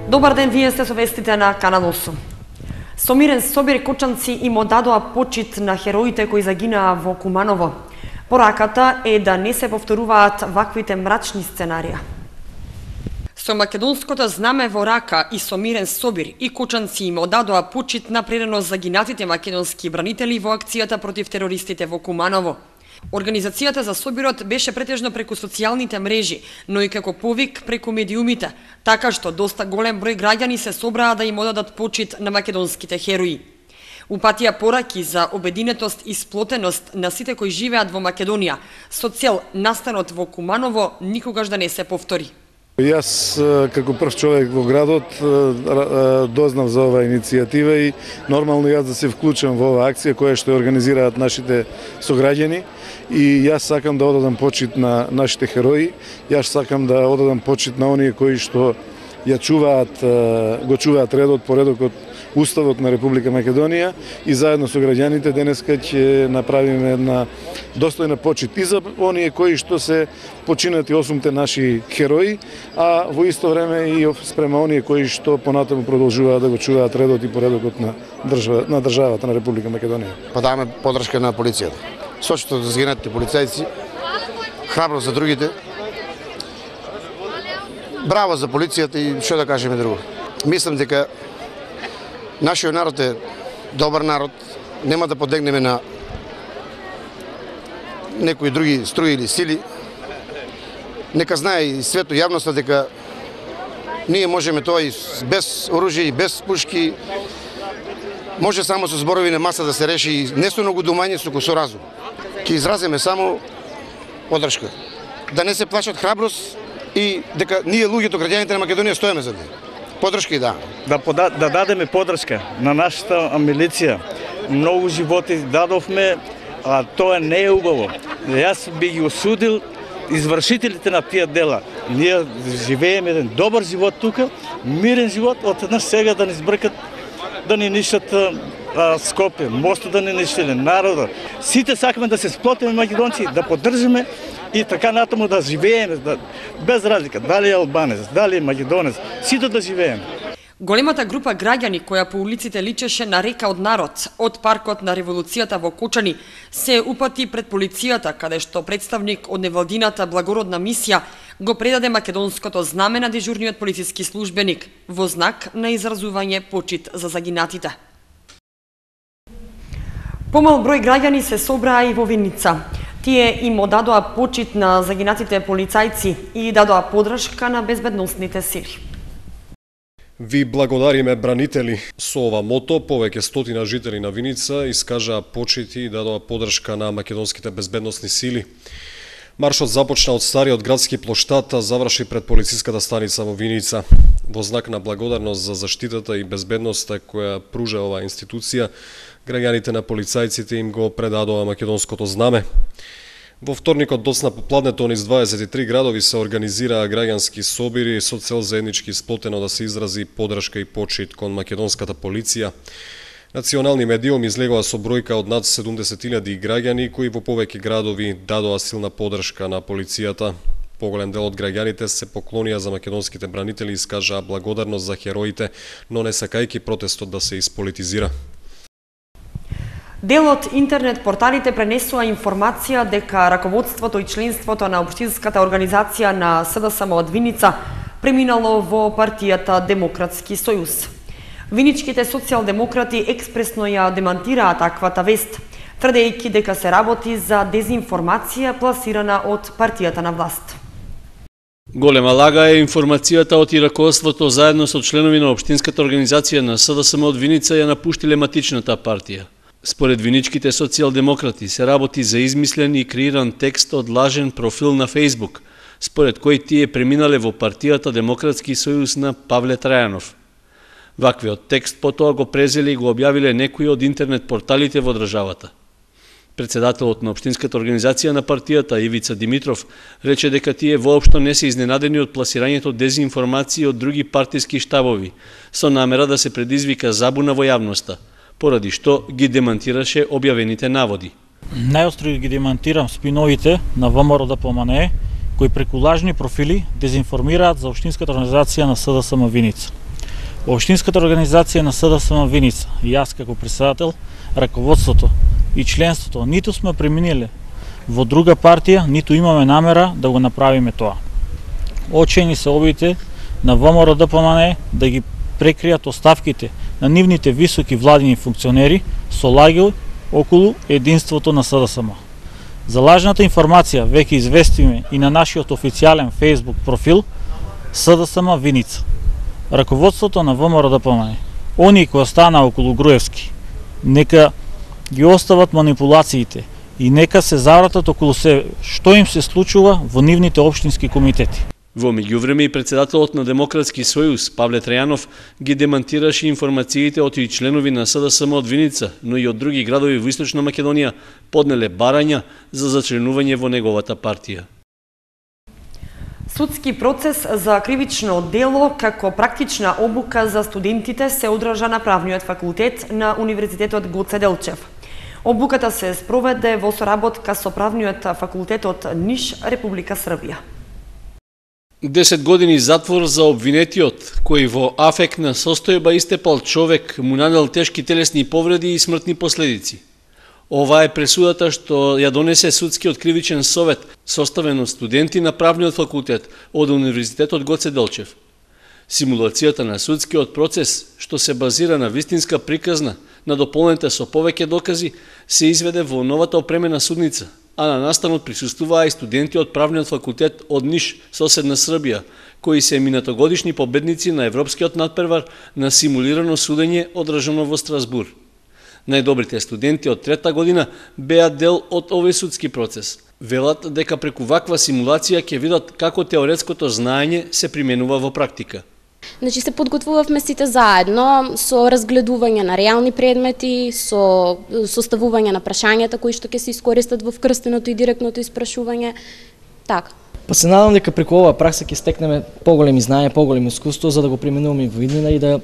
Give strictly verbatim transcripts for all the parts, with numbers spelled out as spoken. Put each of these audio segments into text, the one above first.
Добар ден, вие сте со вестите на Канал осум. Со Мирен Собир кочанци им одадоа почит на хероите кои загинаа во Куманово. Пораката е да не се повторуваат ваквите мрачни сценарија. Со македонското знаме во рака и со Мирен Собир и кочанци им одадоа почит на предано загинатите македонски бранители во акцијата против терористите во Куманово. Организацијата за Собирот беше претежно преку социјалните мрежи, но и како повик преку медиумите, така што доста голем број граѓани се собраа да им одадат почит на македонските херои. Упатија пораки за обединетост и сплотеност на сите кои живеат во Македонија, со цел настанот во Куманово никогаш да не се повтори. Јас како прв човек во градот дознав за оваа иницијатива и нормално јас да се вклучам во оваа акција која што организираат нашите сограѓани и јас сакам да одадам почит на нашите херои, јас сакам да одадам почит на оние кои што ја чуваат, го чуваат редот, поредокот, Уставот на Република Македонија и заедно со граѓаните денеска ќе направиме една достојна почит и за оние кои што се починати осумте наши херои, а во исто време и спрема оние кои што понатаму продолжуваат да го чуваат редот и поредокот на држава, на државата на Република Македонија. Подаваме подршка на полицијата. Сочето за загинатите полицајци, храбро за другите. Браво за полицијата и што да кажеме друго. Мислам дека нашиот народ е добар народ, нема да подегнеме на некои други струи или сили. Нека знае и свето јавноста дека ние можеме тоа и без оружје и без пушки, може само со зборови на маса да се реши и не со многу думање, со со разум. Ќе изразиме само подршка. Да не се плашат, храброст и дека ние луѓето, граѓаните на Македонија стоиме за нив. Подршка и да. Да, пода, да дадеме подршка на нашата милиција. Многу животи дадовме, а тоа не е убаво. Јас би ги осудил извршителите на тие дела. Ние живееме еден добар живот тука, мирен живот, од еднаш сега да ни збркат, да ни нишат а, Скопје, мостот да ни ништиле, народа. Сите сакаме да се сплотиме македонци, да поддржиме и така натаму да живееме, да, без разлика, дали е албанец, дали е македонец, сите да живееме. Големата група граѓани која по улиците личеше на река од народ, од паркот на револуцијата во Кочани, се упати пред полицијата, каде што представник од невладината благородна мисија го предаде македонското знаме на дежурниот полициски службеник во знак на изразување почит за загинатите. Помал број граѓани се собраа и во Виница. Тие им одадоа почит на загинатите полицајци и дадоа подршка на безбедносните сили. Ви благодариме, бранители. Со ова мото, повеќе стотина жители на Виница искажаа почити и дадоа подршка на македонските безбедносни сили. Маршот започна од стариот градски плоштад, а заврши пред полициската станица во Виница. Во знак на благодарност за заштитата и безбедноста која пружа оваа институција, граѓаните на полицајците им го предадоа македонското знаме. Во вторникот доцна попладнето низ дваесет и три градови се организираа граѓански собири со цел заеднички сплотено да се изрази подршка и почит кон македонската полиција. Национални медиум излегоа со бројка од над седумдесет илјади граѓани кои во повеќе градови дадоа силна подршка на полицијата. Поголем дел од граѓаните се поклонија за македонските бранители и искажаа благодарност за хероите, но не сакајќи протестот да се исполитизира. Дел од интернет порталите пренесува информација дека раководството и членството на општинската организација на СДСМ од Виница преминало во партијата Демократски сојуз. Виничките социјалдемократи експресно ја демантираа таквата вест, тврдејќи дека се работи за дезинформација пласирана од партијата на власт. Голема лага е информацијата од и раководството заедно со членови на општинската организација на СДСМ од Виница ја напуштиле матичната партија. Според виничките социјалдемократи се работи за измислен и креиран текст од лажен профил на Фејсбук, според кој тие преминале во партијата Демократски сојуз на Павле Трајанов. Ваквиот текст потоа го презели и го објавиле некои од интернет порталите во државата. Председателот на општинската организација на партијата Ивица Димитров рече дека тие воопшто не се изненадени од пласирањето дезинформации од други партиски штабови, со намера да се предизвика забуна во јавноста, поради што ги демантираше објавените наводи. Најостро ги демантирам спиновите на ВМРО да помане, кои преку лажни профили дезинформираат за општинската организација на СДСМ Виница. Општинската организација на СДСМ Виница, и јас како председател, раководството и членството, ниту сме преминиле во друга партија, ниту имаме намера да го направиме тоа. Очени се обидите на ВМРО-ДПМНЕ да ги прекријат оставките на нивните високи владини функционери со лаги околу единството на СДСМ. За лажната информација веќе известиме и на нашиот официјален Facebook профил СДСМ Виница. Раководството на ВМРО-ДПМНЕ, оние кои остана околу Груевски, нека ги остават манипулациите и нека се завратат околу себе што им се случува во нивните општински комитети. Во меѓувреме и председателот на Демократски сојуз Павле Трајанов ги демантираше информациите од и членови на СДСМ од Виница, но и од други градови во Источна Македонија поднеле барања за зачленување во неговата партија. Судски процес за кривично дело како практична обука за студентите се одржа на Правниот факултет на Универзитетот Гоце Делчев. Обуката се спроведе во соработка со Правниот факултет од Ниш, Република Србија. десет години затвор за обвинетиот, кој во афектна состојба истепал човек, му нанел тешки телесни повреди и смртни последици. Ова е пресудата што ја донесе Судскиот кривичен совет, составен од студенти на Правниот факултет од Универзитетот Гоце Делчев. Симулацијата на судскиот процес, што се базира на вистинска приказна, на дополнета со повеќе докази, се изведе во новата опремена судница, а на настанот присуствуваа и студенти од Правниот факултет од Ниш, соседна Србија, кои се минатогодишни победници на Европскиот надпревар на симулирано судење одржано во Страсбур. Најдобрите студенти од трета година беа дел од овој судски процес. Велат дека преку ваква симулација ќе видат како теоретското знаење се применува во практика. Значи се подготвувавме сите заедно со разгледување на реални предмети, со составување на прашањата кои што ќе се искористат во вкрстеното и директното испрашување. Така. Па се надам дека преку оваа пракса ќе стекнеме поголеми знаења, поголемо искуство за да го применуваме во иднина и да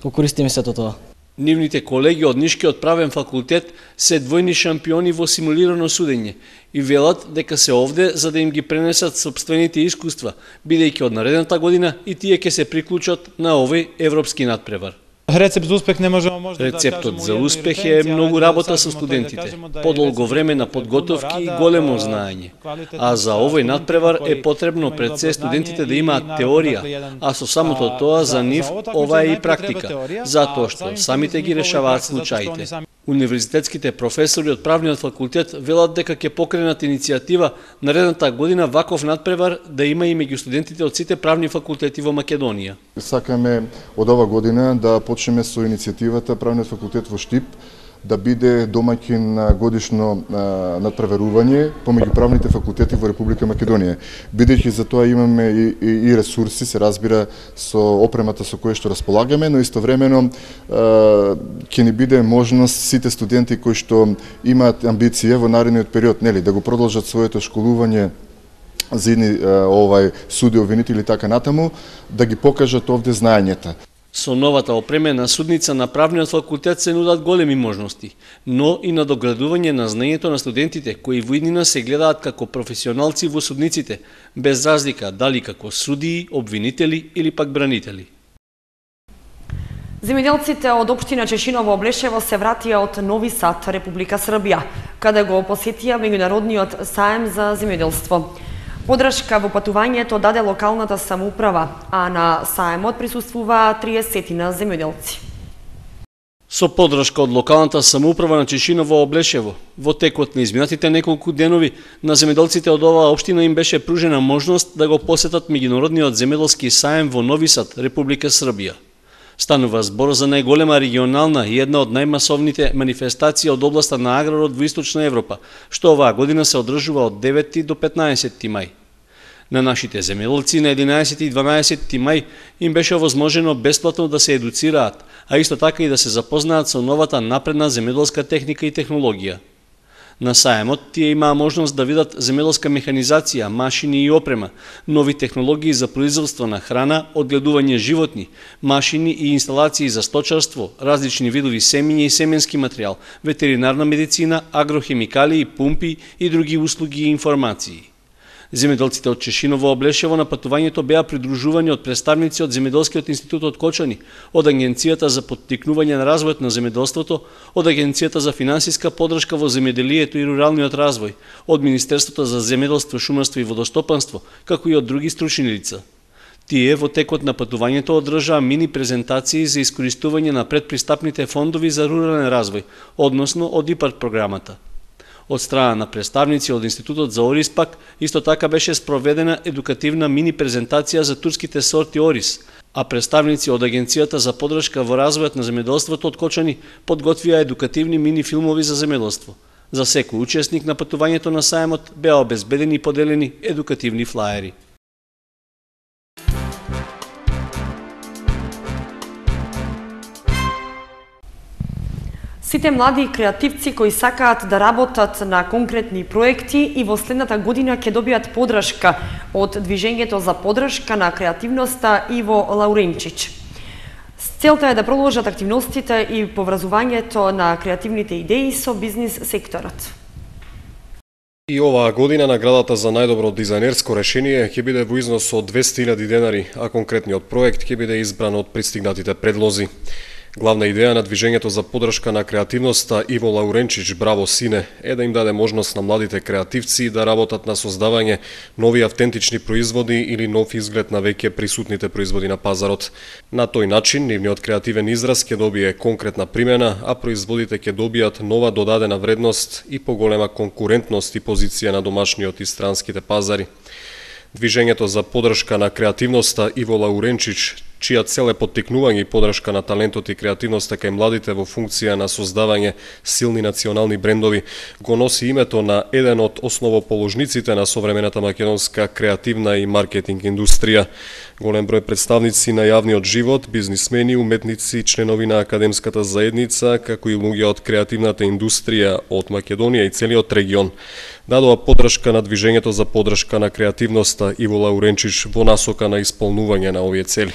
го користиме сето тоа. Нивните колеги од Нишкиот правен факултет се двојни шампиони во симулирано судење и велат дека се овде за да им ги пренесат сопствените искуства, бидејќи од наредната година и тие ќе се приклучат на овој европски надпревар. Рецепт за успех не можеме може да Рецептот за успех е многу работа со студентите, подолго време на подготовки и големо знаење. А за овој надпревар е потребно пред се студентите да имаат теорија, а со самото тоа за нив ова е и практика, затоа што самите ги решаваат случаите. Универзитетските професори од Правниот факултет велат дека ќе покренат иницијатива наредната година ваков надпревар да има и меѓу студентите од сите правни факултети во Македонија. Сакаме од ова година да почнеме со иницијативата Правниот факултет во Штип да биде домаќин на годишно надпреверување помеѓу правните факултети во Република Македонија. Бидејќи за тоа имаме и, и, и ресурси, се разбира, со опремата со која што располагаме, но истовремено ќе ни биде можност сите студенти кои што имаат амбиција во наредниот период, нели, да го продолжат своето школување за едни овај суди, обвинители и така натаму, да ги покажат овде знаењата. Со новата опремена судница на Правниот факултет се нудат големи можности, но и надоградување на знаењето на студентите кои во иднина се гледаат како професионалци во судниците, без разлика дали како судии, обвинители или пак бранители. Земјоделците од општина Чешиново Облешево се вратија од Нови Сад, Република Србија, каде го посетија меѓународниот саем за земјоделство. Подршка во патувањето даде локалната самоуправа, а на саемот присуствуваа триесетина земјоделци. Со подршка од локалната самоуправа на Чешиново Облешево, во текот на изминатите неколку денови, на земјоделците од оваа општина им беше пружена можност да го посетат меѓународниот земјоделски саем во Нови Сад, Република Србија. Станува збор за најголема регионална и една од најмасовните манифестации од областа на аграрот во Источна Европа, што оваа година се одржува од деветти до петнаесетти мај. На нашите земјоделци на единаесети и дванаесетти мај им беше возможено бесплатно да се едуцираат, а исто така и да се запознаат со новата напредна земјоделска техника и технологија. На саемот тие имаа можност да видат земјоделска механизација, машини и опрема, нови технологии за производство на храна, одгледување животни, машини и инсталации за сточарство, различни видови семење и семенски материјал, ветеринарна медицина, агрохемикалии, пумпи и други услуги и информации. Земјоделците од Чешиново Облешево на патувањето беа придружувани од представници од Земјоделскиот институт од Кочани, од Агенцијата за поттикнување на развојот на земјоделството, од Агенцијата за финансиска поддршка во земјоделието и руралниот развој, од Министерството за земјоделство, шумарство и водостопанство, како и од други стручни лица. Тие во текот на патувањето одржаа мини презентации за искористување на предпристапните фондови за рурален развој, односно од ИПАРД програмата. Од страна на представници од Институтот за Орис пак, исто така беше спроведена едукативна мини презентација за турските сорти Орис, а представници од Агенцијата за поддршка во развојот на земјоделството од Кочани подготвија едукативни мини филмови за земјоделство. За секој учесник на патувањето на сајмот беа обезбедени и поделени едукативни флаери. Сите млади креативци кои сакаат да работат на конкретни проекти и во следната година ќе добијат поддршка од Движењето за поддршка на креативноста Иво Лауренчич. Целта е да продолжат активностите и поврзувањето на креативните идеи со бизнис секторот. И оваа година наградата за најдобро дизајнерско решение ќе биде во износ од двесте илјади денари, а конкретниот проект ќе биде избран од пристигнатите предлози. Главна идеја на Движењето за поддршка на креативноста Иво Лауренчич Браво Сине е да им даде можност на младите креативци да работат на создавање нови автентични производи или нов изглед на веќе присутните производи на пазарот. На тој начин, нивниот креативен израз ќе добие конкретна примена, а производите ќе добијат нова додадена вредност и поголема конкурентност и позиција на домашниот и странските пазари. Движењето за поддршка на креативноста Иво Лауренчич, чија цел е поттикнување и поддршка на талентот и креативноста кај младите во функција на создавање силни национални брендови, го носи името на еден од основоположниците на современата македонска креативна и маркетинг индустрија. Голем број представници на јавниот живот, бизнисмени, уметници, членови на академската заедница, како и луѓе од креативната индустрија од Македонија и целиот регион, дадоа поддршка на Движењето за поддршка на креативноста Иво Лауренчич во насока на исполнување на овие цели.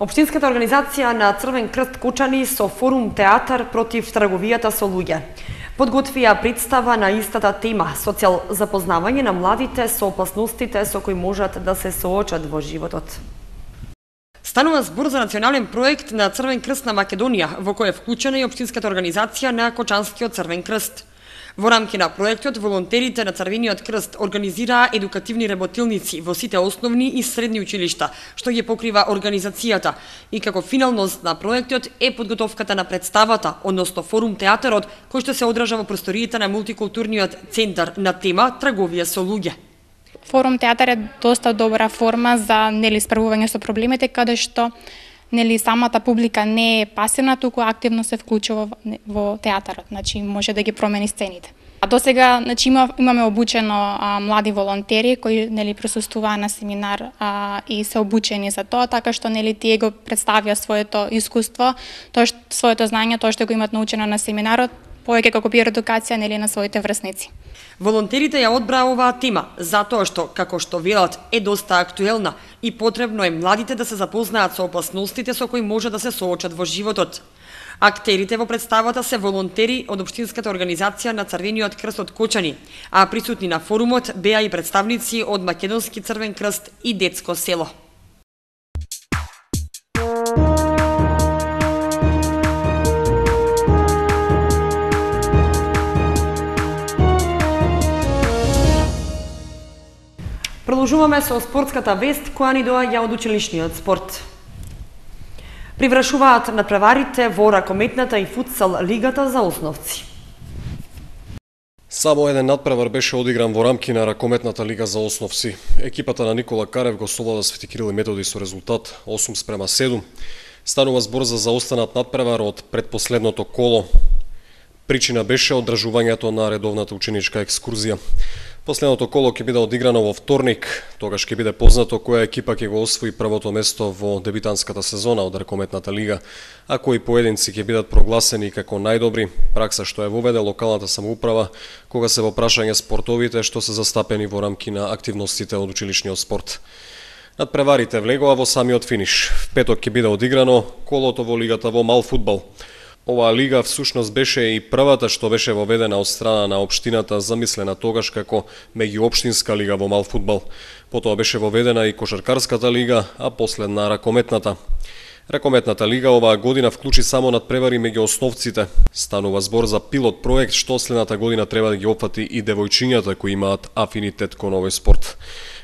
Општинската организација на Црвен крст Кочани со форум театар против трговијата со луѓе подготвија представа на истата тема со цел запознавање на младите со опасностите со кои можат да се соочат во животот. Станува збор за национален проект на Црвен крст на Македонија, во кој е вклучена и Општинската организација на Кочанскиот Црвен крст. Во рамки на проектот, волонтерите на Црвениот крст организираа едукативни работилници во сите основни и средни училишта, што ги покрива организацијата. И како финалност на проектот е подготовката на представата, односно форум театарот, кој што се одража во просториите на мултикултурниот центар на тема трговија со луѓе. Форум театар е доста добра форма за нели справување со проблемите, каде што нели самата публика не е пасивна, туку активно се вклучува во театарот, значи може да ги промени сцените. А досега значи има, имаме обучено а, млади волонтери кои нели присуствуваа на семинар а, и се обучени за тоа, така што нели тие го представија своето искуство, тоа што своето знаење, тоа што го имат научено на семинарот, повеќе како пиар едукација нели на своите врсници. Волонтерите ја одбраа оваа тема, затоа што, како што велат, е доста актуелна и потребно е младите да се запознаат со опасностите со кои може да се соочат во животот. Актерите во представата се волонтери од Општинската организација на Црвениот крст од Кочани, а присутни на форумот беа и представници од Македонски Црвен крст и Детско село. Продолжуваме со спортската вест која ни доаѓа од училишниот спорт. Привршуваат надпреварите во ракометната и футсал лигата за основци. Само еден надпревар беше одигран во рамки на ракометната лига за основци. Екипата на Никола Карев го совлада Свети Кирил и Методи со резултат осум спрема седум. Станува збор за заостанат надпревар од предпоследното коло. Причина беше одржувањето на редовната ученичка екскурзија. Последното коло ќе биде одиграно во вторник, тогаш ќе биде познато која екипа ќе го освои првото место во дебитантската сезона од ракометната лига, а кои поединци ќе бидат прогласени како најдобри, пракса што ја воведе локалната самоуправа кога се во прашање спортовите што се застапени во рамки на активностите од училишниот спорт. Надпреварите влегоа во самиот финиш. В петок ќе биде одиграно колото во лигата во мал фудбал. Оваа лига всушност беше и првата што беше воведена од страна на општината, замислена тогаш како меѓуопштинска лига во мал фудбал. Потоа беше воведена и кошаркарската лига, а последна ракометната. Ракометната лига оваа година вклучи само надпревари меѓу основците. Станува збор за пилот проект што следната година треба да ги опфати и девојчињата кои имаат афинитет кон овој спорт.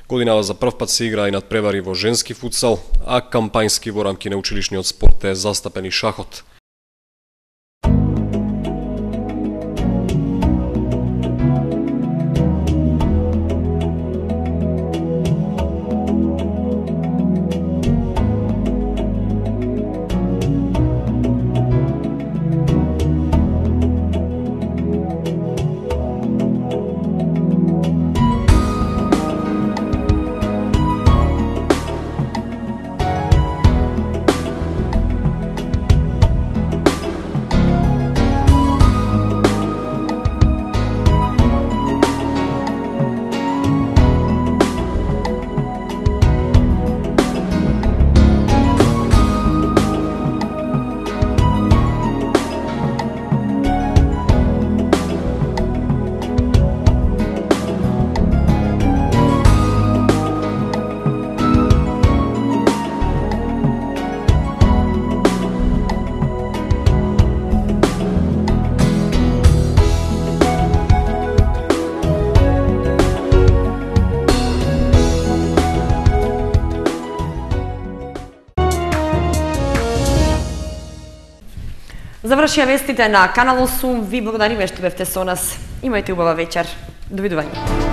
Годинава за прв пат се игра и надпревари во женски футсал, а кампањски во рамки на училишниот спорт е застапен и шахот. Завршија вестите на Канал осум. Ви благодариме што бевте со нас. Имајте убава вечер. Довидување.